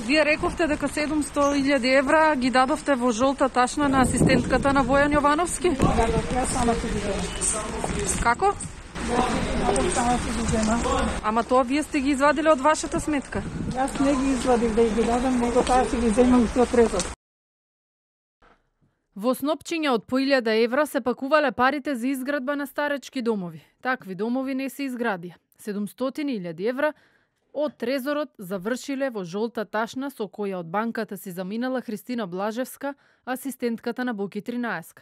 Вие рековте дека 700.000 евра ги дадовте во жолта ташна на асистентката на Бојан Јовановски? Да, ја сама се ги земам. Како? Да, сама се ги земам. Ама тоа вие сте ги извадиле од вашата сметка? Јас не ги извадив да ги дадам, него таа се ги земам со трезор. Во снопчиња од по 1000 евра се пакувале парите за изградба на старечки домови. Такви домови не се изградија. 700.000 евра од трезорот завршиле во жолта ташна со која од банката си заминала Христина Блажевска, асистентката на Боки 13.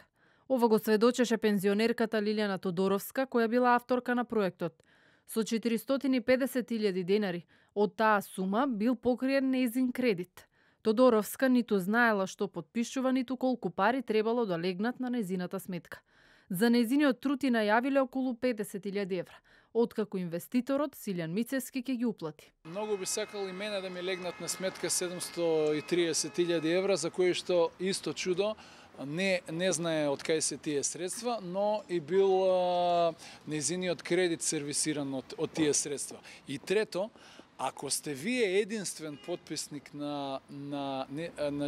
Ова го сведочеше пензионерката Лилјана Тодоровска, која била авторка на проектот. Со 450.000 денари од таа сума бил покриен нејзин кредит. Тодоровска ниту знаела што потпишува, ниту колку пари требало да легнат на нејзината сметка. За нејзиниот труд и најавиле околу 50.000 евра, откако инвеститорот Силјан Мицевски ќе ги уплати. Многу би сакал и мене да ми легнат на сметка 730.000 евра, за кои што исто чудо не знае од кај се тие средства, но и бил нејзиниот кредит сервисиран од тие средства. И трето, ако сте вие единствен потписник на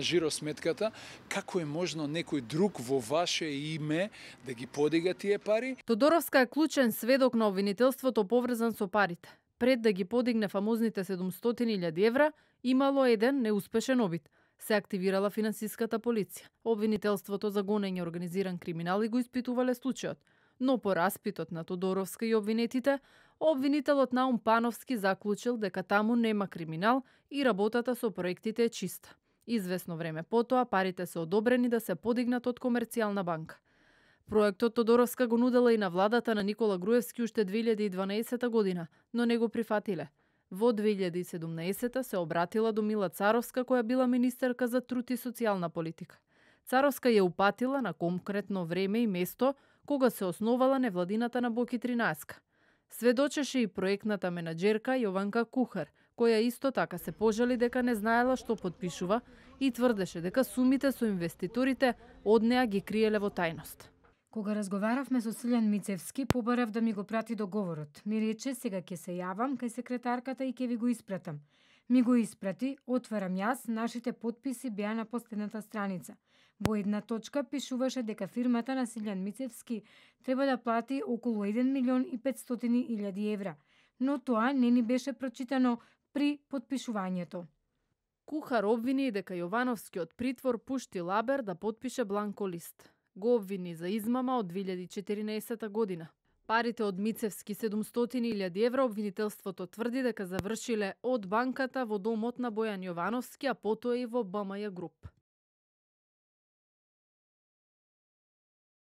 жиросметката, како е можно некој друг во ваше име да ги подига тие пари? Тодоровска е клучен сведок на обвинителството поврзан со парите. Пред да ги подигне фамозните 700.000 евра, имало еден неуспешен обид. Се активирала финансиската полиција. Обвинителството за гонење организиран криминал и го испитувале случајот. Но по распитот на Тодоровска и обвинетите, обвинителот Наум Пановски заклучил дека таму нема криминал и работата со проектите е чиста. Извесно време потоа парите се одобрени да се подигнат од Комерцијална банка. Проектот Тодоровска го нудела и на владата на Никола Груевски уште 2012 година, но не го прифатиле. Во 2017 се обратила до Мила Царовска, која била министерка за труд и социјална политика. Царовска ја упатила на конкретно време и место кога се основала невладината на Боки 13. Сведочеше и проектната менаџерка Јованка Кухар, која исто така се пожали дека не знаела што потпишува и тврдеше дека сумите со инвеститорите од неа ги криеле во тајност. Кога разговаравме со Силјан Мицевски, побарав да ми го прати договорот. Ми рече сега ќе се јавам кај секретарката и ќе ви го испратам. Ми го испрати, отварам јас, нашите потписи беа на последната страница. Во една точка пишуваше дека фирмата на Силјан Мицевски треба да плати околу 1.500.000 евра, но тоа не ни беше прочитано при потпишувањето. Кухар обвини дека Јовановски од притвор пушти Лабер да потпише бланко лист. Го обвини за измама од 2014 година. Парите од Мицевски 700.000 евра обвинителството тврди дека завршиле од банката во домот на Бојан Јовановски, а потоа и во БМЈ Груп.